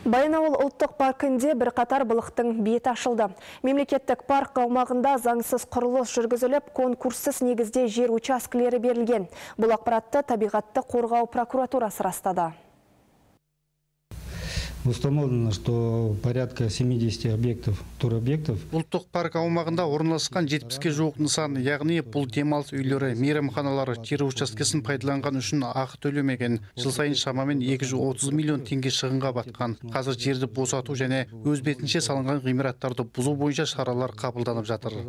Баянауыл ұлттық паркінде бір қатар былықтың беті ашылды. Мемлекеттік парк аумағында заңсыз құрылыс жүргізіліп, конкурссыз негізде жер учаскелері берілген. Бұл ақпаратты табиғатты қорғау прокуратурасы растады. Установлено, что порядка 70 объектов, туробъектов. Ұлттық парк аумағында орналасқан 70-ке жуық нысан, яғни бұл демалыс үйлері, мейрамханалары жер учаскесін пайдаланған үшін ақы төлемеген. Жыл сайын шамамен 230 миллион теңге шығынға батқан. Қазір жерді босату және өз бетінше салынған ғимараттарды бұзу бойынша шаралар қабылданып жатыр.